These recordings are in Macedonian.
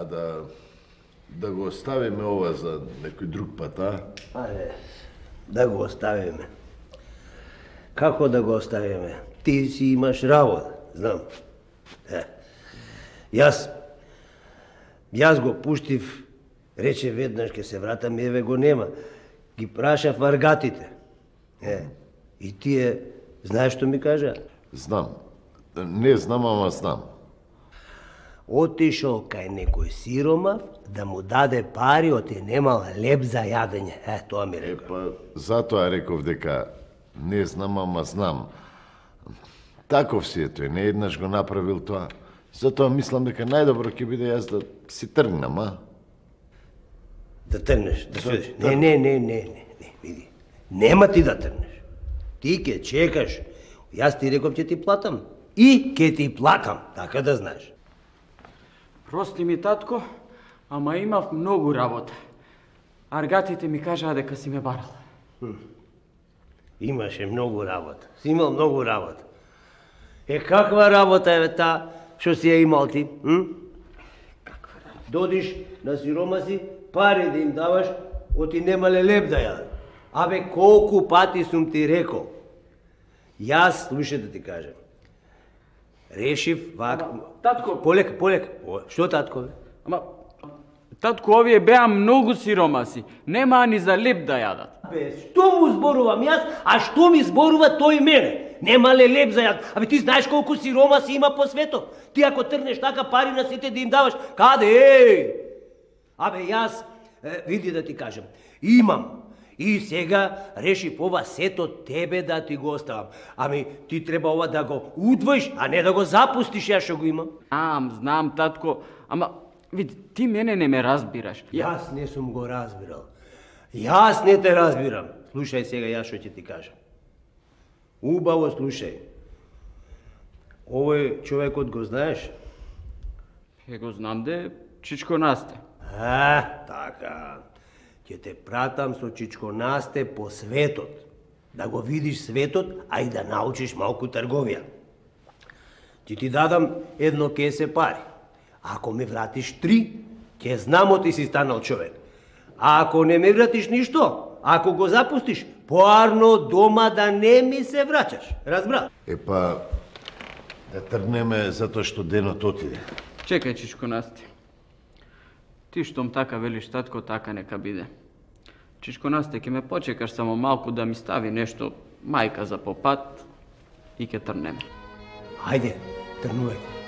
А да го оставиме ова за некој друг пат, а? Ајде, да го оставиме. Како да го оставиме? Ти си имаш работа, знам. Јас го пуштив, рече веднаш ке се вратам и еве го нема. Ги прашав варгатите. И тие, знаеш што ми кажа? Знам. Не знам, ама знам. Отишол кај некој сиромав да му даде пари, оти немал леп за јадење. Тоа ми рекол. Па, затоа реков дека не знам, ама знам. Таков си е тој, не еднаш го направил тоа. Затоа мислам дека најдобро ќе биде јас да си тргнам, а? Да тргнеш, да сведеш. Не, види. Нема ти да тргнеш. Ти ќе чекаш. Јас ти реков ќе ти платам. И ќе ти платам, така да знаеш. Прости ми, татко, ама имав многу работа. Аргатите ми кажаа дека си ме барал. Имаше многу работа. Си имал многу работа. Каква работа е таа што си ја имал ти? Каква работа? Додиш на сиромаси, пари да им даваш, оти немале леп да јадат. Абе, колку пати сум ти рекол? Јас, слушај да ти кажам. Решив вака... Татко... Полека. Што татко, бе? Ама, татко, овие беа многу сиромаси. Немаа ни за леп да јадат. Бе, што му зборувам јас, а што ми зборува тој мене? Немале леп за јадат. Абе, ти знаеш колку сиромаси има по светот? Ти ако тргнеш така пари на сите да им даваш, каде? Абе, јас, види да ти кажам, имам. И сега решив ова сето тебе да ти го оставам. Ами, ти треба ова да го удвоиш, а не да го запустиш, ја што го имам. Знам, татко, ама, види, ти мене не ме разбираш. Јас не сум го разбирал. Јас не те разбирам. Слушај сега, јас што ќе ти кажам. Убаво слушај. Овој човекот го знаеш? Го знам де, Чичко Насте. Така. Ќе те пратам со Чичко Насте по светот. Да го видиш светот, а и да научиш малку трговија. Ти дадам едно кесе пари. Ако ми вратиш 3, ќе знам оти си станал човек. А ако не ми вратиш ништо, ако го запустиш, поарно дома да не ми се враќаш. Разбра? Епа, да тргнеме затоа што денот отиде. Чекај, Чичко Насте. Ти штом така велиш, татко, така нека биде. Чичко Насте, ќе ме почекаш само малку да ми стави нешто мајка за попат и ќе тргнеме. Хајде, тргнувајте.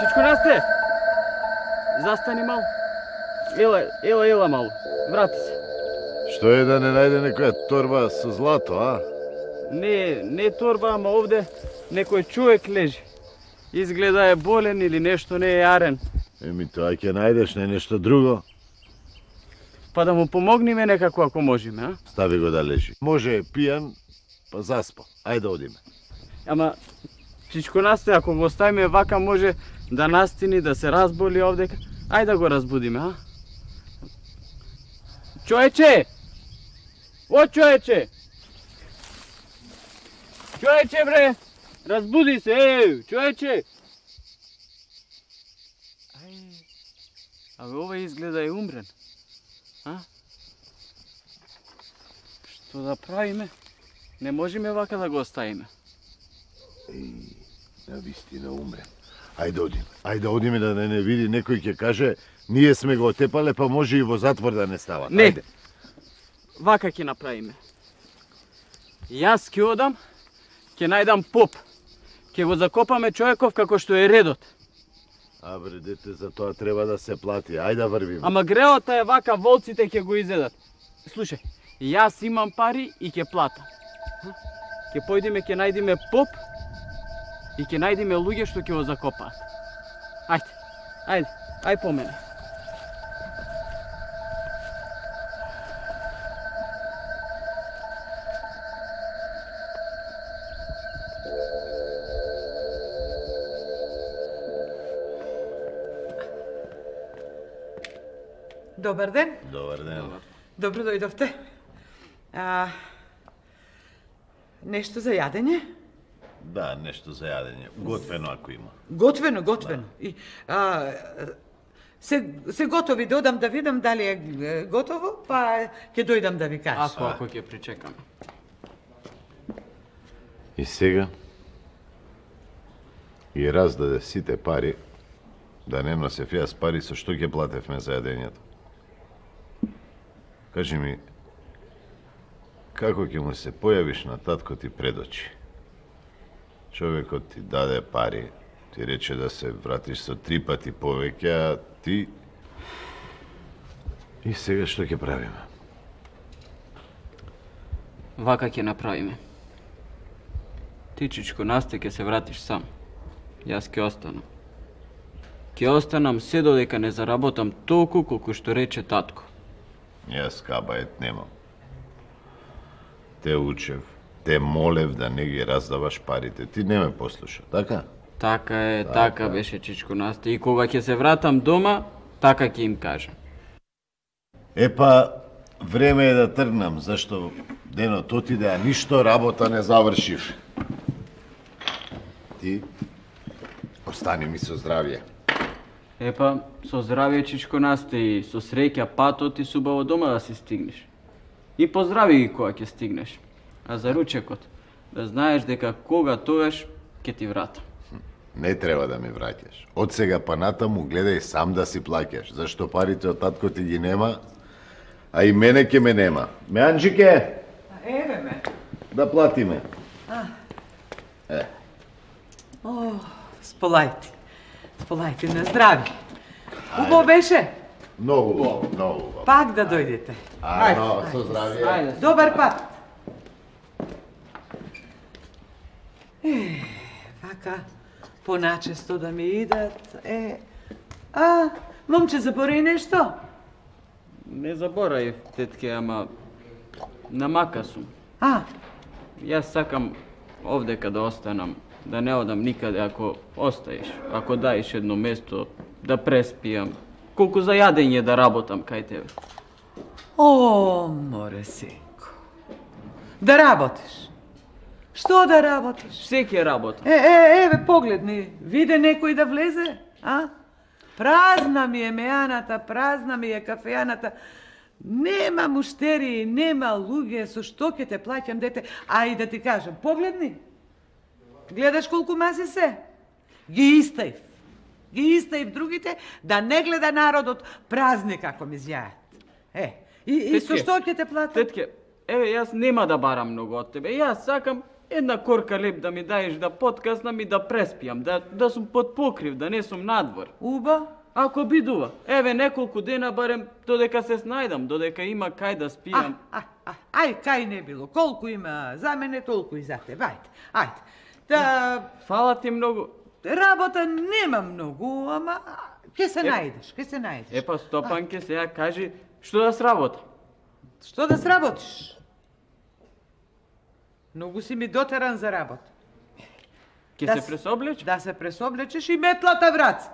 Чичко Насте! Застани малку. Ела малку. Врати се. Што е да не најде некоја торба со злато, а? Не торба, ама овде некој човек лежи. Изгледа е болен или нешто не е јарен. Еми тоа ќе најдеш, не нешто друго. Па да му помогнеме некако ако можеме, а? Стави го да лежи. Може е пијан, па заспа. Ајде одиме. Ама, Чичко Насте, ако го оставиме вака, може да настини, да се разболи овдека. Ајде да го разбудиме, а? Човече! О, човече! Човече, бре! Разбуди се, човече! Абе, ова изгледа е умрен. А? Што да правиме? Не можеме вака да го оставиме. Навистина умрен. Ајде одиме да не види некој ќе каже ние сме го отепале, па може и во затвор да не стават. Не. Ајде. Вака ќе направиме. Јас ќе одам, ќе најдам поп. Ќе го закопаме човеков како што е редот. А бре, дете, за тоа треба да се плати. Ајде да врвиме. Ама греота е вака, волците ќе го изедат. Слушај, јас имам пари и ќе платам. Ќе појдеме, ќе најдеме поп и ќе најдеме луѓе што ќе го закопаат. Ајде по мене. Добар ден. Добар ден. Добро дојдовте. Нешто за јадење? Да, нешто за јадење. Готвено ако има. Готвено. И, се готови да одам да видам дали е готово, па ќе дојдам да ви кажам. Ако ќе причекаме. И сега и раздаде сите пари, да не носев јас пари, со што ќе платевме за јадењето. Кажи ми, како ќе му се појавиш на татко ти пред очи? Човекот ти даде пари, ти рече да се вратиш со 3 пати повеќе, а ти... И сега што ќе правиме? Вака ќе направиме. Ти, Чичко Насте, ќе се вратиш сам. Јас ќе останам. Ќе останам се додека не заработам толку колку што рече татко. Јас кабајет немам. Те учев, те молев да не ги раздаваш парите. Ти не ме послуша, така? Така е, така беше, Чичко Насте. И кога ќе се вратам дома, така ќе им кажам. Епа, време е да тргнам, зашто денот отиде, а ништо работа не завршив. Ти остани ми со здравје. Епа, со здравје, Чичко Насте, и со среќа патот и субаво дома да си стигнеш. И поздрави ги кога ќе стигнеш. А за ручекот, да знаеш дека кога тогаш ќе ти вратам. Не треба да ми враќаш. Од сега па натаму гледај сам да си плаќаш, зашто парите од татко ти ги нема, а и мене ќе ме нема. Меанџике, Еве ме. да платиме. Сполајте на здрави. Убаво беше? Многу убаво, многу убаво. Пак да дојдете. Ајде, со здравје. Ајде. Добар пат. Вака, поначесто да ми идат, момче, заборај нешто? Не заборај, тетке, ама намака сум. Јас сакам овдека да останам, да не одам никаде ако остаеш, ако даеш едно место да преспијам, колку за јадење да работам кај тебе. О, море синко. Да работиш? Што да работиш? Се ќе работам. Еве, погледни, виде некој да влезе, Празна ми е меаната, празна ми е кафејаната. Нема муштери, нема луѓе, со што ќе те плаќам, дете? А и да ти кажам, погледни. Гледаш колку маси се? Ги истаив другите, да не гледа народот празни како ми зјаат. И со што ќе те платам? Тетке, еве, јас нема да барам многу од тебе. Јас сакам една корка леп да ми даеш да подкаснам и да преспијам, да сум под покрив, да не сум надвор. Уба? Ако бидува, еве неколку дена барем додека се снајдам, додека има кај да спијам. Ај, кај не било. Колку има за мене, толку и за тебе. Ајде. Фала ти многу. Работа нема многу, ама ќе се најдеш, Епа, Стопанке, сега кажи што да сработам. Што да сработиш? Многу си ми дотеран за работа. Ќе се пресоблечеш? Да се пресоблечеш и метлата враца.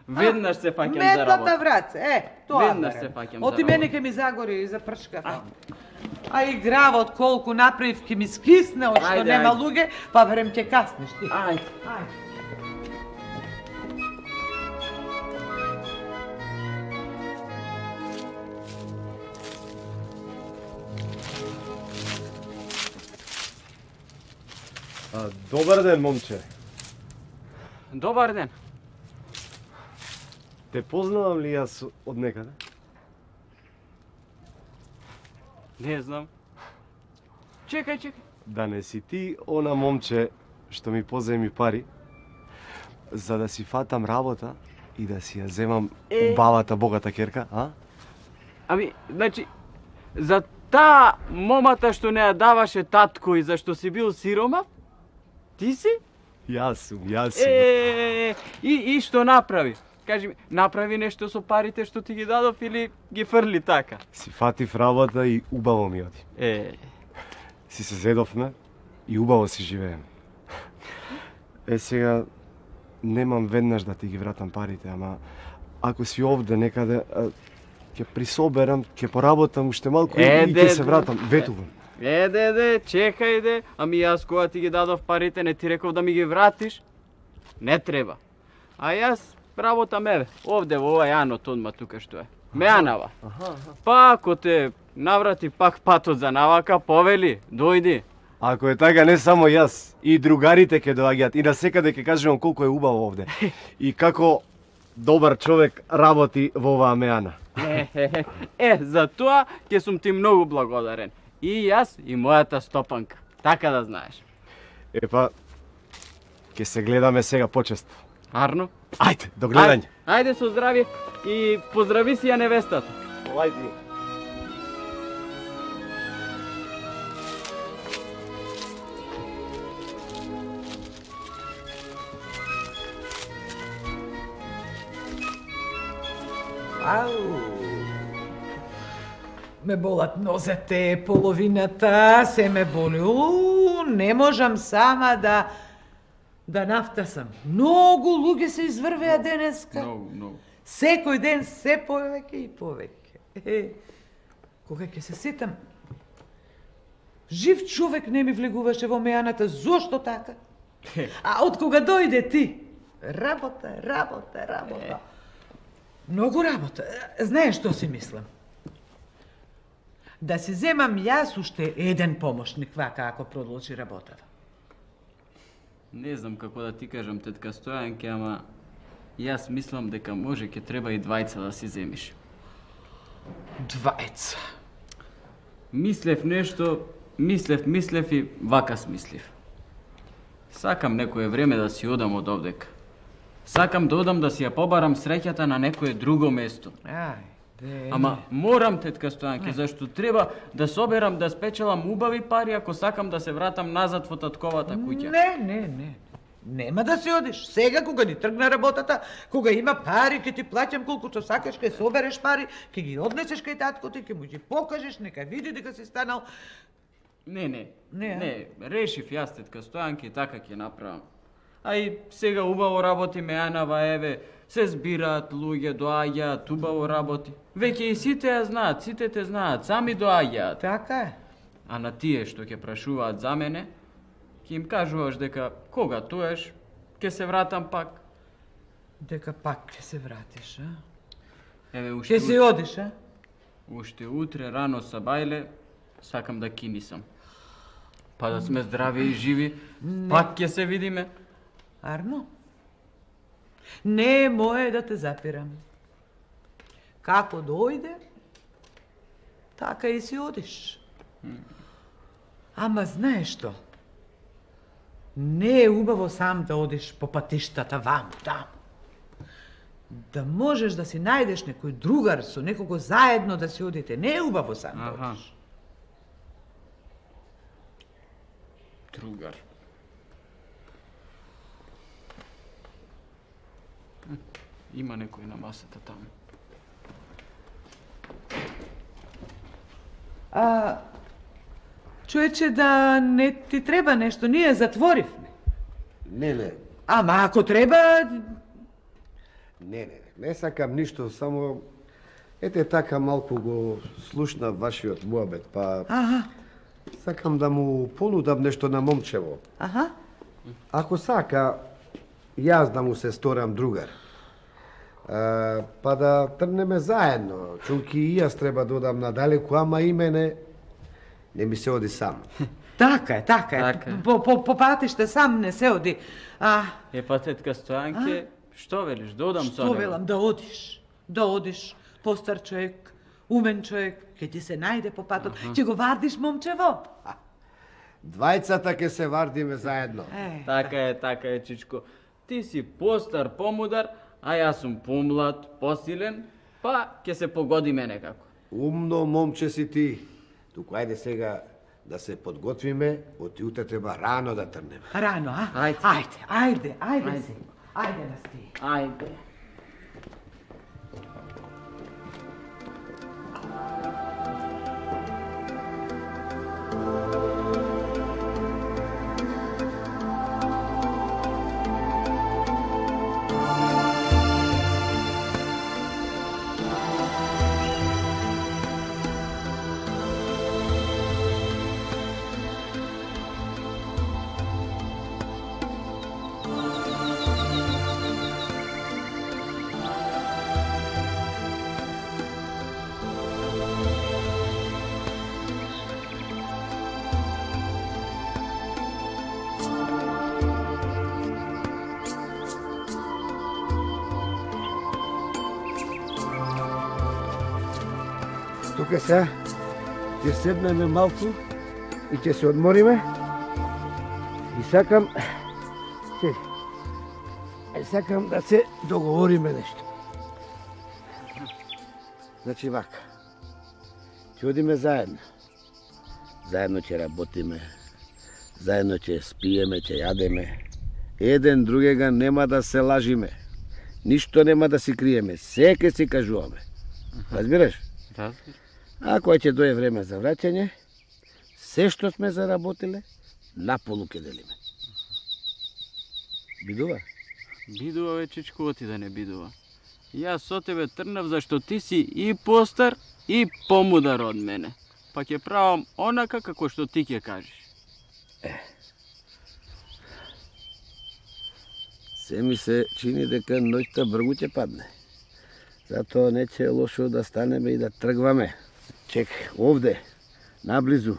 Веднаш се фаќам за работа. Метлата враца, тоа. Веднаш се фаќам за работа. Оти мене ќе ми загори и за пршка. А и гравот колку направив ке ми скисне, од што Ајде, нема ајде. луѓе, па верем ќе каснеш ти. Ајде. Ајде. Добар ден, момче. Добар ден. Те познавам ли јас од некаде? Не знам. Чекај. Да не си ти она момче што ми поземи пари за да си фатам работа и да си ја земам убавата богата керка, а? Ами, значи, за таа момата што не ја даваше татко и зашто си бил сиромав? Ти си? Јас сум. И што направи? Кажи ми, направи нешто со парите што ти ги дадов или ги фрли така? Си фатив работа и убаво ми оди. Си се зедовме и убаво си живееме. Сега немам веднаш да ти ги вратам парите, ама ако си овде некаде, ќе присоберам, ќе поработам уште малку и ќе се вратам. Ветувам. Чекај. Ами јас кога ти ги дадов парите не ти реков да ми ги вратиш? Не треба. А јас работам еве, овде во ова јанот одма тука што е. Мејанава. Па ако те наврати пак патот за навака, повели, дојди. Ако е така, не само јас, и другарите ќе доаѓаат и насекаде ќе кажувам колку е убаво овде. И како добар човек работи во оваа Мејана. За тоа ќе сум ти многу благодарен. И јас и мојата стопанка. Така да знаеш. Епа, ќе се гледаме сега почесто. Арно? Ајде, до гледање. Ајде со здравје и поздрави си ја невестата. Ајде. Ау! Ме болат нозете, половината, се ме боли. Не можам сама да нафтасам. Многу луѓе се изврвеа денеска. Многу. Секој ден се повеќе и повеќе. Кога ќе се сетам, жив човек не ми влегуваше во Мејаната, зошто така? А од кога дојде ти? Работа. Многу работа. Знаеш што си мислам? Да си земам јас уште еден помошник, вака ако продолжи работава. Не знам како да ти кажам, тетка Стојанке, ама јас мислам дека може ќе треба и двајца да си земиш. Двајца. Мислев нешто, мислев и вака смислив. Сакам некое време да си одам од овдека. Сакам да одам да си ја побарам среќата на некое друго место. Ама морам, тетка Стојанке, зашто треба да соберам да спечелам убави пари ако сакам да се вратам назад во татковата куќа. Не. Нема да си одиш. Сега кога ни тргна работата, кога има пари, ќе ти плаќам колку што сакаш, ќе собереш пари, ќе ги однесеш кај таткото и ќе му ги покажеш, нека види дека си станал. Не, решив јас, тетка Стојанке, и така ќе направам. А и сега убаво работи Мејанава, еве, се збираат луѓе, доаѓаат, убаво работи. Веќе и сите ја знаат, сите те знаат, сами доаѓаат. Така е. А на тие што ќе прашуваат за мене, ќе им кажуваш дека кога тоеш, ќе се вратам пак. Дека пак ќе се вратиш, а? Еве, Ќе се одиш, а? Уште утре рано са бајле, сакам да кинисам. Па да сме здрави и живи, пак ќе се видиме. Арно? Не е мое да те запирам. Како дојде, така и си одиш. Ама знаеш што? Не е убаво сам да одиш по патиштата ваму, таму. Да можеш да си најдеш некој другар, со некого заедно да си одите. Не е убаво сам да одиш. Другар. Има некој на масата таму. Човече, да не ти треба нешто, ние затворивме. Не. Ама ако треба... Не сакам ништо, само Ете така малку го слушна вашиот муабет, па Аха, сакам да му понудам нешто на момчево. аха. Ако сака, јас да му се сторам другар. Па да трнеме заедно. Чунки и јас треба да одам надалеку, ама и мене не ми се оди сам. Така е. Така е. По патиште сам не се оди. Па тетка Стојанке, што велиш, да одам со Што него? велам, да одиш, постар човек, умен човек, ќе ти се најде по патот, ќе го вардиш момчево. Двајцата ќе се вардиме заедно. Така е, чичко. Ти си постар, помудар, а јас сум помлад, посилен, па ќе се погодиме некако. Умно момче си ти. Туку ајде сега да се подготвиме, од утре треба рано да трнеме. Рано, Ајде. Ајде си. Ајде нас ти. Ајде. Тука се, ќе седнеме малку и ќе се одмориме. И сакам да се договориме нешто. Значи вака, ќе одиме заедно. Заедно ќе работиме, заедно ќе спиеме, ќе јадеме. Еден другега нема да се лажиме. Ништо нема да си криеме, се ќе си кажуваме. Разбираш? Разбираш. А кога ќе дое време за враќање, се што сме заработиле, наполу ќе делиме. Бидува? Бидува, бе, чичко, оти да не бидува. Јас со тебе трнав зашто ти си и постар и помудар од мене. Па ќе правам онака како што ти ќе кажеш. Се ми се чини дека ноќта бргу ќе падне. Затоа не ќе е лошо да станеме и да тргваме. Чекај, овде, наблизу,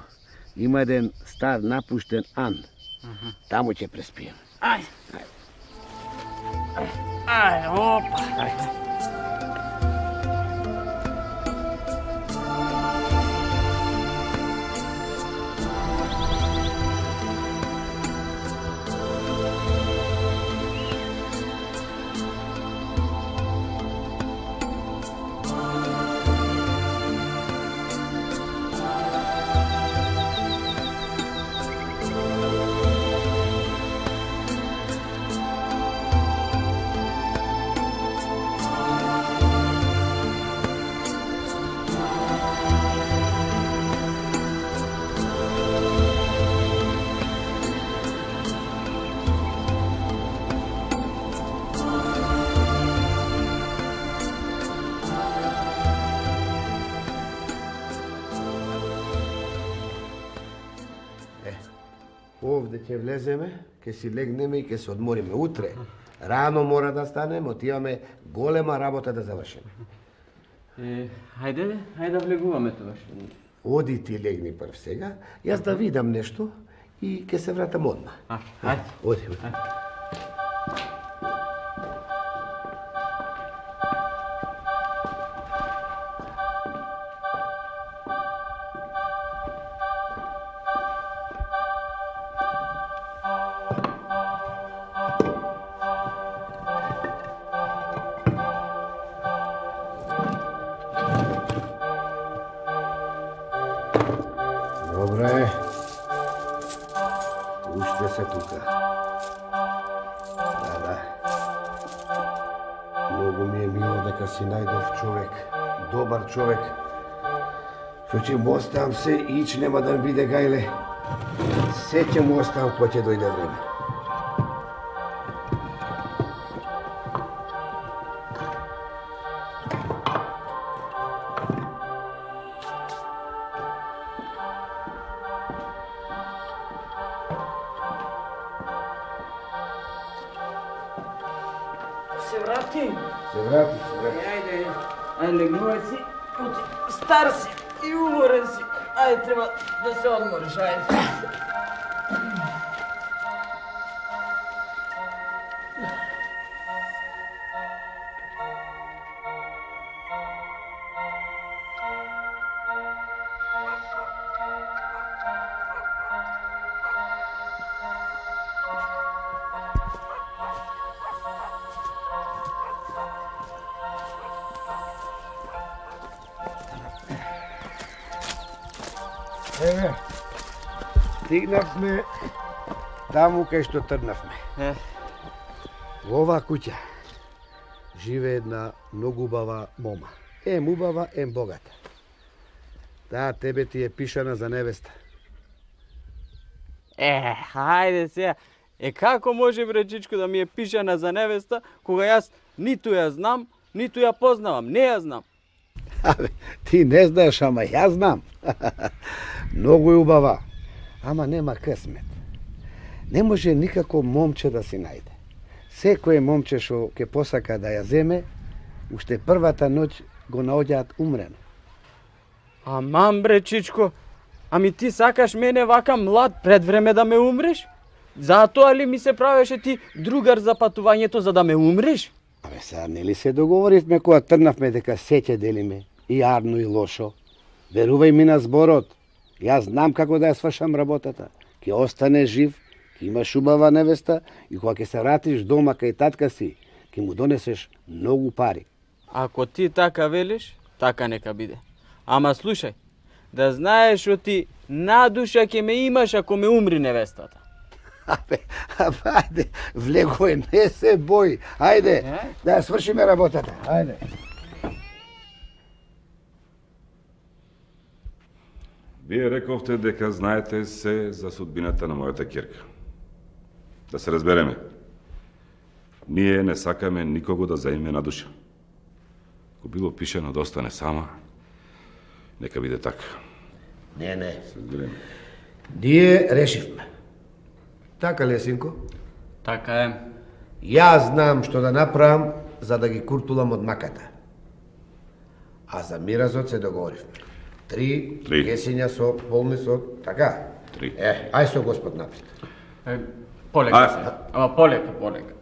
има еден стар напуштен ан. Таму ќе преспием. Ајде, опа. Овде ќе влеземе, ќе си легнеме и ќе се одмориме. Утре, рано мора да станеме, отиваме голема работа да завршиме. Хајде да влегуваме тоа што. Оди ти легни прв сега, јас да видам нешто и ќе се вратам одма. Хајде. Оди. Добре. Уште се тука. Да. Многу ми е мило дека си најдов човек. Добар човек. Што ќе му оставам се и ич нема да ми биде гајле. Се ќе му оставам кога ќе дојде време. се врати. Се врати. Ајде, легнувај си. Стар си и уморен си. Ајде, треба да се одмориш, ајде. Еве, стигнавме таму кај што тргнавме. Во оваа куќа живее една многу убава мома. Ем убава, ем богата. Таа тебе ти е пишана за невеста. Хајде сега. Како може бречичко да ми е пишана за невеста, кога јас ниту ја знам, ниту ја познавам, не ја знам. Абе, ти не знаеш, ама ја знам. Многу е убава, ама нема късмет. Не може никако момче да си најде. Секој момче што ќе посака да ја земе, уште првата ноќ го наоѓаат умрено. Аман бречичко, ами ти сакаш мене вака млад пред време да ме умреш? Затоа ли ми се правеше ти другар за патувањето за да ме умреш? Абе, сега нели се договоривме кога тргнавме дека се ќе делиме, и јарно и лошо. Верувај ми на зборот. Јас знам како да ја свршам работата. Ќе остане жив, ќе имаш убава невеста и кога ќе се вратиш дома кај татка си, ќе му донесеш многу пари. Ако ти така велиш, така нека биде. Ама слушај, да знаеш што ти надуша ќе ме имаш ако ме умри невестата. Абе, ајде, влегој, не се бој. Ајде, да ја свршиме работата. Ајде. Вие рековте дека знаете се за судбината на мојата ќерка. Да се разбереме. Ние не сакаме никого да заиме на душа. Ако било пишено да остане сама, нека биде така. Не. Разбереме. Ние решивме. Така ли е, синко? Така е. Јас знам што да направам за да ги куртулам од маката. А за миразот се договоривме. 3 кесиња со полни со, така? 3. Ај со Господ напред. Полека се. Ама полека.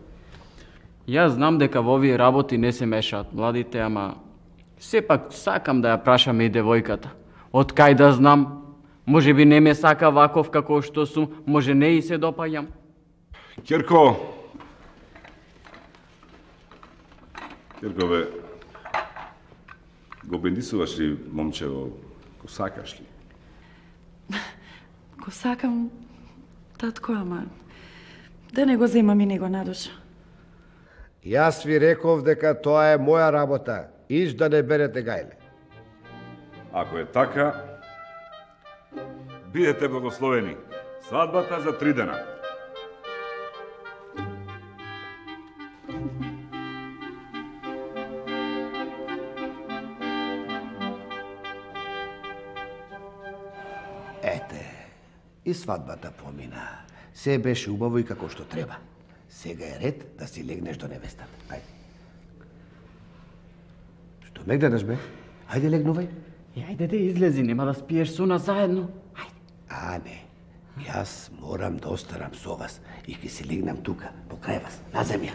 Јас знам дека во овие работи не се мешаат младите, ама сепак сакам да ја прашам и девојката. Од кај да знам? Може би не ме сака ваков како што сум, може не и се допаѓам. Ќерко, бе, го бендисуваш ли момчево, го сакаш ли? Го сакам, татко, ама да не го земам и него на душа. Јас ви реков дека тоа е моја работа. Иш да не берете гајле. Ако е така, бидете благословени. Свадбата за 3 дена. Ете, и свадбата помина. Се беше убаво и како што треба. Сега е ред да си легнеш до невестата. Ајде. Што ме гледаш, бе? Ајде, легнувај. Ајде да излези, нема да спиеш со нас заедно. Ајде. Не. Јас морам да останам со вас и ќе си легнам тука, покрај вас, на земја.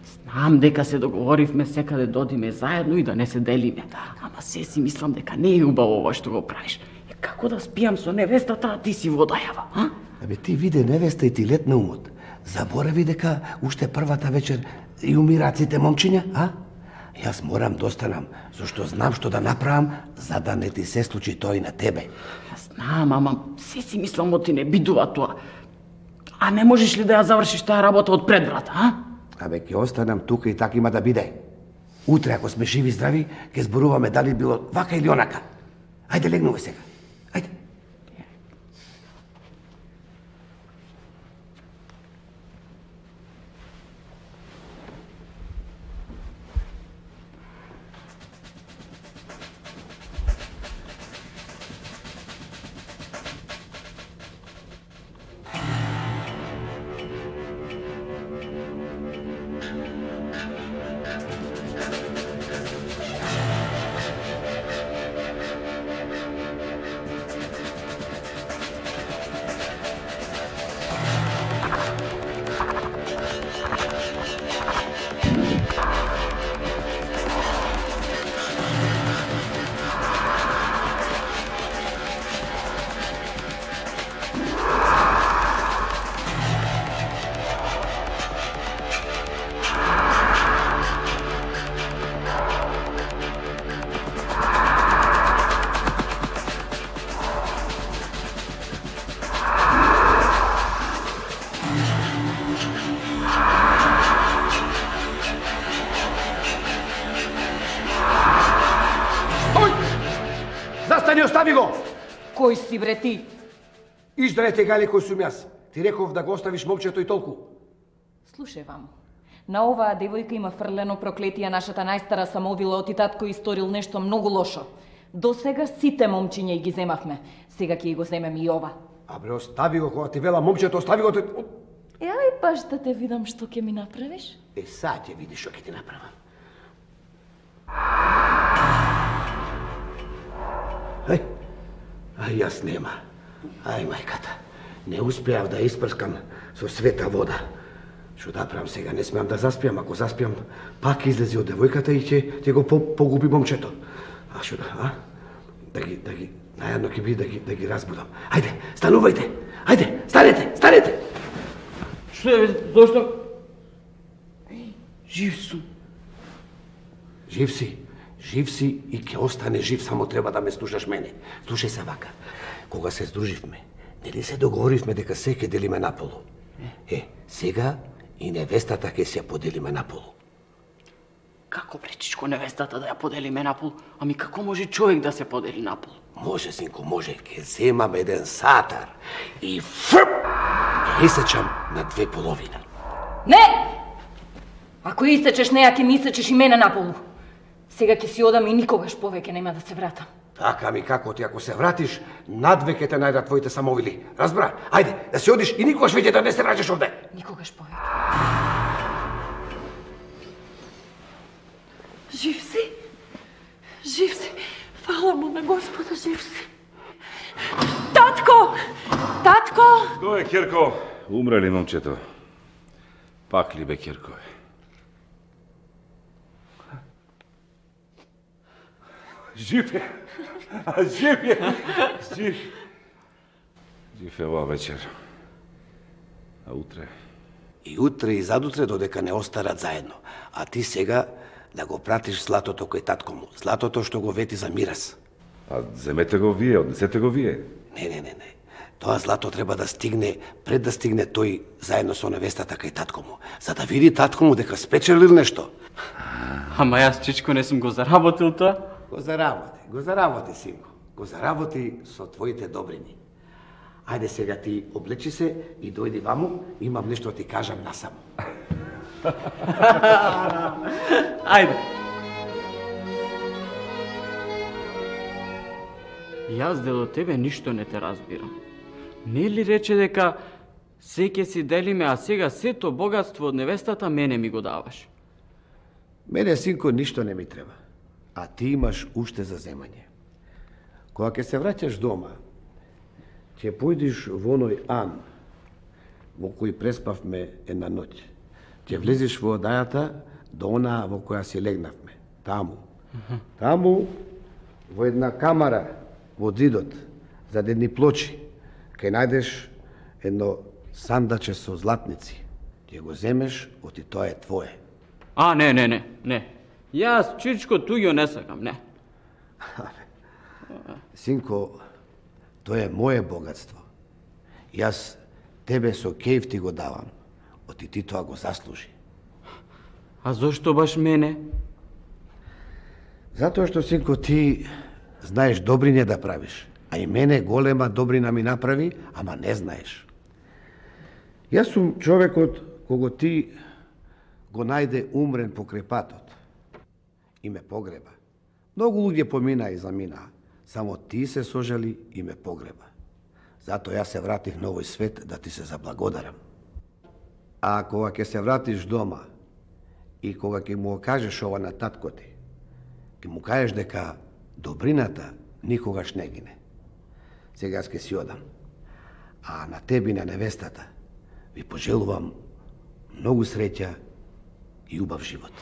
Знам дека се договоривме секаде додиме заедно и да не се делиме. Ама се си мислам дека не е убаво ова што го правиш. Како да спијам со невестата, а ти си водајава, а? Абе, ти виде невеста и ти летна умот. Заборави дека уште првата вечер и умираат сите момчиња, а? Јас морам да останам, зашто знам што да направам, за да не ти се случи тоа и на тебе. Знам, ама се си мислам ти не бидува тоа. А не можеш ли да ја завршиш таа работа од пред врата, а? Абе, ќе останам тука и така има да биде. Утре, ако сме живи и здрави, ќе зборуваме дали било вака или онака. Ајде, легнувај сега. Ајде. Кој си бре ти? Издрете гале кој сум јас. Ти реков да го оставиш момчето и толку. Слушај вам. На оваа девојка има фрлено проклетие, нашата најстара самоубила, оти татко историл нешто многу лошо. До сега сите момчиња ги земавме. Сега ќе го земем и ова. А бре, остави го, кога ти вела момчето, остави го. Ај, баш да те видам што ќе ми направиш. Сад ќе видиш што ќе ти направам. Ај, јас нема. Ај, мајката. Не успеав да испрскам со света вода. Што да правам сега? Не смеам да заспиам. Ако заспиам, пак излези од девојката и ќе го погуби момчето. А што да, а? Да ги, најадно ќе биде да ги разбудам. Ајде, станувајте! Ајде, станете! Што е, зошто? Жив сум. Жив си и ќе остане жив, само треба да ме слушаш мене. Слушај се вака. Кога се здруживме, нели се договоривме дека се ќе делиме наполу? Сега и невестата ќе се ја поделиме наполу. Како пречичко невестата да ја поделиме наполу? Ами како може човек да се подели наполу? Може, синко, може. Ќе земам еден сатар и фрп! Ќе исечам на две половина. Не! Ако исечеш неја, ќе ми исечеш и мене наполу. Сега ќе си одам и никогаш повеќе нема да се вратам. Така ми како ти, ако се вратиш, надве ќе те најдат твоите самовили. Разбра? Ајде, да се одиш и никогаш веќе да не се враќаш овде. Никогаш повеќе. Жив си? Жив си. Фала му на Господа, жив си. Татко! Татко! Кој е, Кирко? Умре ли момчето? Пак ли бе, Кирко? Жив е! Жив е оваа вечер. А утре? И утре и задутре додека не остарат заедно. А ти сега да го пратиш златото кој татко му. Златото што го вети за мирас. А земете го вие, однесете го вие. Не. Тоа злато треба да стигне пред да стигне тој заедно со невестата кај татко му, за да види татко му дека спечелил нешто. Ама јас, чичко, не сум го заработил тоа. Го заработи, синко. Го заработи со твоите добрини. Ајде сега ти облечи се и дојди ваму, имам нешто да ти кажам насамо. Ајде. Јас дело тебе ништо не те разбирам. Нели рече дека се ќе си делиме, а сега сето богатство од невестата мене ми го даваш? Мене, синко, ништо не ми треба. А ти имаш уште за земање. Кога ќе се враќаш дома, ќе појдиш во оној ан, во кој преспавме една ноќ. Ќе влезеш во одајата до онаа во која си легнавме. Таму, во една камара, во зидот, за едни плочи, кај најдеш едно сандаче со златници. Ќе го земеш, оти тоа е твое. А, не. Јас, чичко, туѓо не сакам, не. Синко, тоа е моje богатство. Јас тебе со кејф ти го давам, оти ти тоа го заслужи. А зошто баш мене? Затоа што, синко, ти знаеш добрине да правиш, а и мене голема добрина ми направи, ама не знаеш. Јас сум човекот кого ти го најде умрен покрај патот и ме погреба. Многу луѓе помина и замина, само ти се сожали и ме погреба. Затоа јас се вратив на овој свет да ти се заблагодарам. А кога ќе се вратиш дома и кога ќе му кажеш ова на татко ти, ќе му кажеш дека добрината никогаш не гине. Сега ќе си одам. А на тебе и на невестата ви пожелувам многу среќа и убав живот.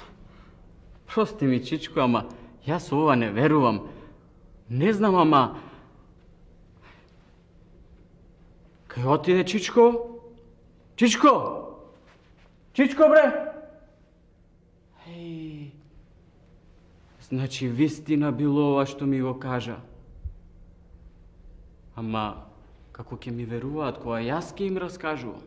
Прости ми, чичко, ама јас ова не верувам. Не знам, ама... Кај отиде Чичко? Чичко, бре! Еј... Значи, вистина било ова што ми го кажа. Ама, како ќе ми веруваат кога јас ќе им раскажувам?